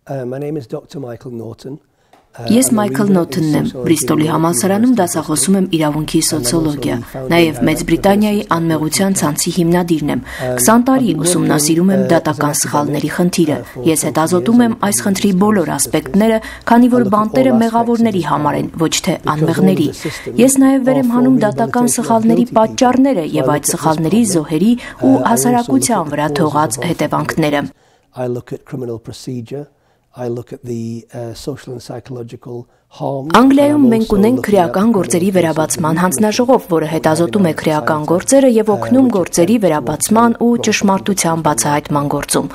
My name is Dr. Michael Norton. Ես Մայքլ Նոթոնն եմ, Բրիստոլի համալսարանում դասախոսում եմ իրավունքի սոցիոլոգիա, նաև Մեծ Բրիտանիայի անմեղության ցանցի հիմնադիրն եմ, 20 տարի ուսումնասիրում եմ դատական սխալների խնդիրը, ես հետազոտում եմ այս խնդրի բոլոր ասպեկտները, քանի որ բանտերը մեղավորների համար են, ոչ թե անմեղների, ես նաև վեր եմ հանում դատական սխալների պատճառները և այդ սխալների զոհերի ու հասարակության վրա թողած հետևանքները։ I look at criminal procedure. I look at the social and psychological harm. Անգլիայում մենք ունենք քրեական գործերի վերաբացման հանձնաժողով, որը հետազոտում է քրեական գործերը եւ օգնում գործերի վերաբացման ու ճշմարտության բացահայտման գործում։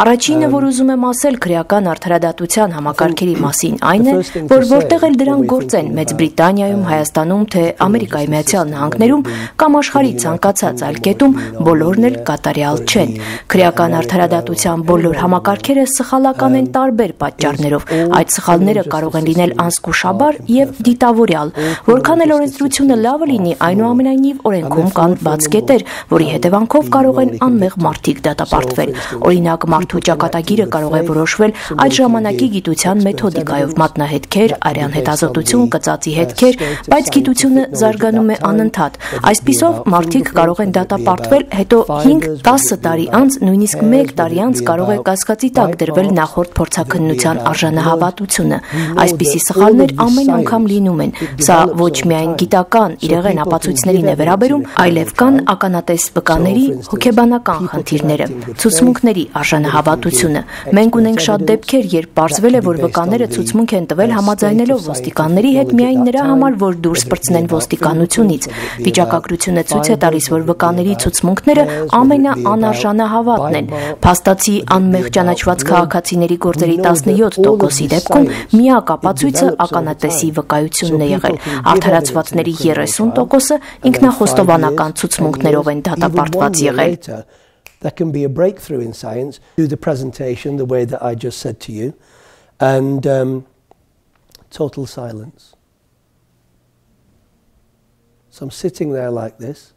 Առաջինը, որ ուզում եմ ասել քրեական արդարադատության համակարգերի մասին, այն է, որ որտեղ էլ դրանք գործեն Մեծ Բրիտանիայում, Հայաստանում, թե Ամերիկայի Միացյալ Նահանգներում կամ աշխարհի ցանկացած այլ կետում, բոլորն էլ կատարյալ չեն։ Քրեական արդարադատության բոլոր համակարգերը սխալական են տարբեր պատճառներով։ Այդ սխալները կարող են լինել անզգուշաբար եւ դիտավորյալ, որքան էլ օրենսդրությունը լավը լինի, այնուամենայնիվ օրենքում կան բաց կետեր, որի հետևանքով կարող են անմեղ մարդիկ դատապարտվել։ Օրինակ, մարդու ճակատագիրը կարող է որոշվել այդ ժամանակի գիտության մեթոդիկայով, մատնահետքեր, արյան հետազոտություն, կծածի հետքեր, բայց գիտությունը զարգանում է անընդհատ։ Այսպիսով մարդիկ կարող են դատապարտվել, հետո 5-10 տարի անց, նույնիսկ 1 տարի անց կարող է կասկածի տակ դրվել նախորդ փորձաքննության արժանահավատությունը։ Այսպիսի սխալներ ամեն անգամ լինում են։ Սա ոչ միայն գիտական իրեղեն ապացույցներին է վերաբերում, այլև կան ականատես վկաների հոգեբանական խնդիրները, ցուցմունքների արժանահավատությունը։ Մենք ունենք շատ դեպքեր, երբ պարզվել է, որ վկաները ցուցմունք են տվել համաձայնելով ոստիկանների հետ միայն նրա համար, որ դուրս պրծնեն ոստիկանությունից։ Վիճակագրությունը ցույց է տալիս, որ վկաների ցուցմունքները ամենաանարժանահավատն են։ Փաստացի անմեղ ճանաչված քաղաքացիների գործերի 17%-ի դեպքում միակ ապացույցը ականատեսի վկայությունն է եղել։ Արդարացվածների 30%-ը ինքնախոստովանական ցուցմունքներով են դատապարտված եղել։ That can be a breakthrough in science. Do the presentation the way that I just said to you, and total silence. So I'm sitting there like this.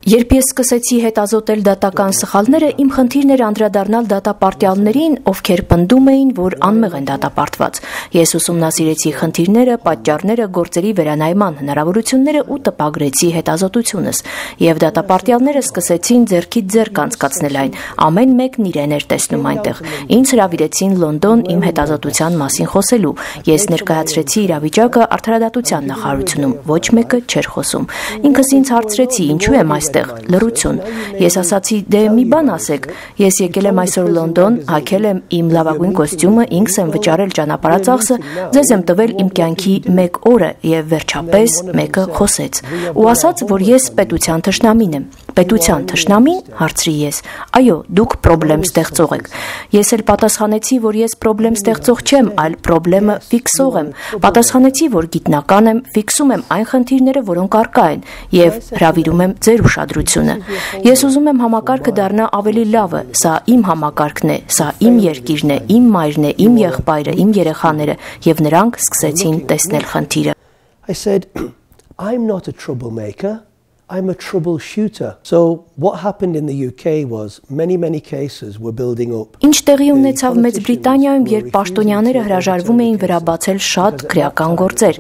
Երբ ես սկսեցի հետազոտել դատական սխալները, իմ խնդիրն էր անդրադառնալ դատապարտյալներին, ովքեր պնդում էին, որ անմեղ են դատապարտված։ Ես ուսումնասիրեցի խնդիրները, պատճառները, գործերի վերանայման հնարավորությունները ու տպագրեցի հետազոտությունս, եւ դատապարտյալները սկսեցին ձեռքից ձեռք անցկացնել այն, ամեն մեկն իրեն էր տեսնում այնտեղ։ Ինձ հրավիրեցին Լոնդոն իմ հետազոտության մասին խոսելու։ Ես ներկայացրեցի իրավիճակը արդարադատության նախարարությունում, ոչ մեկը չէր խոսում։ Ինքս ինձ հարցրեցի, ինչու եմ այստեղ, լռություն։ Ես ասացի, դե մի բան ասեք, ես եկել եմ այսօր Լոնդոն, հագել եմ իմ լավագույն կոստյումը, ինքս եմ վճարել ճանապարհածախսը, ձեզ եմ տվել իմ կյանքի 1 օրը եւ վերջապես մեկը խոսեց ու ասաց, որ ես պետության թշնամին եմ։ Պետության թշնամին, հարցրի ես։ Այո, դուք պրոբլեմ ստեղծող եք։ Ես էլ պատասխանեցի, որ ես պրոբլեմ ստեղծող չեմ, այլ պրոբլեմը ֆիքսող եմ։ Պատասխանեցի, որ գիտնական եմ, ֆիքսում եմ այն խնդիրները, որոնք առկա են, եւ հրավիրում եմ ձեր ուշադրությունը։ Ես ուզում եմ համակարգը դառնա ավելի լավը, սա իմ համակարգն է, սա իմ երկիրն է, իմ մայրն է, իմ եղբայրը, իմ երեխաները, եւ նրանք սկսեցին տեսնել խնդիրը։ I said, I'm not a troublemaker. I'm a troubleshooter. So what happened in the UK was many cases were building up. Ինչ տեղի ունեցավ Մեծ Բրիտանիայում, երբ պաշտոնյաները հրաժարվում էին վերաբացել շատ քրեական գործեր։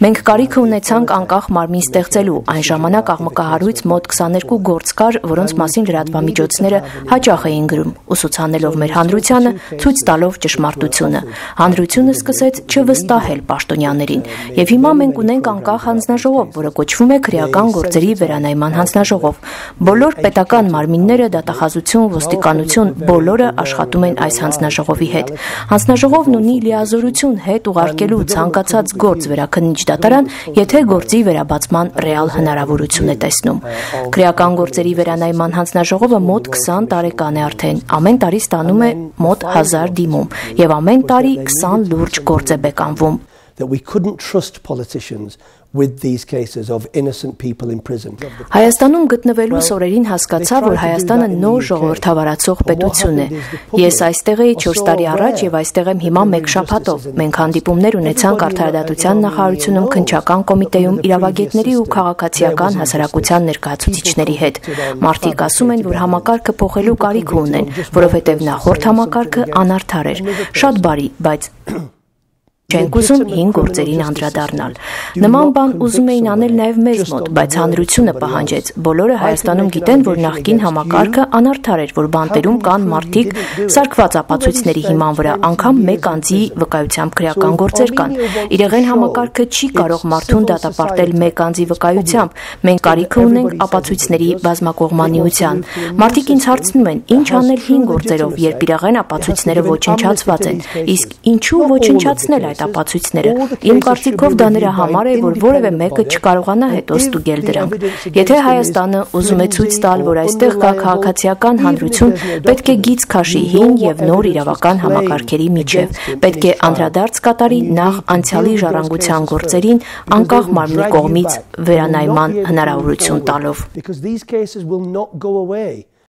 Մենք կարիք ունեցանք անկախ մարմին ստեղծելու։ Այն ժամանակ աղմկահարույց մոտ 22 գործ կար, որոնց մասին լրատվամիջոցները հաճախ էին գրում, ուսուցանելով մեր հանրությանը, ցույց տալով ճշմարտությունը։ Հանրությունը սկսեց չվստահել պաշտոնյաներին։ Եվ հիմա մենք ունենք անկախ հանձնաժողով, որը կոչվում է քրեական գործերի վերանայման հանձնաժողով։ Բոլոր պետական մարմինները, դատախազություն, ոստիկանություն, բոլորը աշխատում են այս հանձնաժողովի հետ։ Հանձնաժողովն ունի լիազորություն հետ ուղարկելու ցանկացած գործ վերաքննիչ դատարան, եթե գործի վերաբացման ռեալ հնարավորություն է տեսնում։ Քրեական գործերի վերանայման հանձնաժողովը մոտ 20 տարեկան է արդեն, ամեն տարի ստանում է մոտ 1000 դիմում, եւ ամեն տարի 20 լուրջ գործ է բեկանվում։ that we couldn't trust politicians with these cases of innocent people in prison. Հայաստանում գտնվելուս օրերին հասկացա, որ Հայաստանը նոր ժողովրդավարացող պետություն է։ Ես այստեղ էի 4 տարի առաջ եւ այստեղ եմ հիմա 1 շաբաթով։ Մենք հանդիպումներ ունեցանք Արդարադատության նախարարությունում, քննչական կոմիտեում, իրավագետների ու քաղաքացիական հասարակության ներկայացուցիչների հետ։ Մարդիկ ասում են, որ համակարգը փոխելու կարիք ունեն, որովհետեւ նախորդ համակարգը անարդար էր, շատ բարի, բայց չենք ուզում հին գործերին անդրադառնալ։ Նման բան ուզում էին անել նաև մեզ մոտ, բայց հանրությունը պահանջեց։ Բոլորը Հայաստանում գիտեն, որ նախկին համակարգը անարդար էր, որ բանտերում կան մարդիկ սարքված ապացույցների հիման վրա, անգամ մեկ անձի վկայությամբ քրեական գործեր կան։ Իրեղեն համակարգը չի կարող մարդուն դատապարտել մեկ անձի վկայությամբ։ Մենք կարիք ունենք ապացույցների բազմակողմանիության։ Մարդիկ ինձ հարցնում են, ինչ անել հին գործերով, երբ իրեղեն ապացույցները ոչնչացված են։ Իսկ ինչու ոչնչացնել այդ ապացույցները։ Իմ կարծիքով դա նրա համար է, որ որևէ մեկը չկարողանա հետո ստուգել դրանք։ Եթե Հայաստանը ուզում է ցույց տալ, որ այստեղ կա քաղաքացիական հանրություն, պետք է գիծ քաշի հին եւ նոր իրավական համակարգերի միջև։ Պետք է անդրադարձ կատարի նախ անցյալի ժառանգության գործերին, անկախ մարմնի կողմից վերանայման հնարավորություն տալով։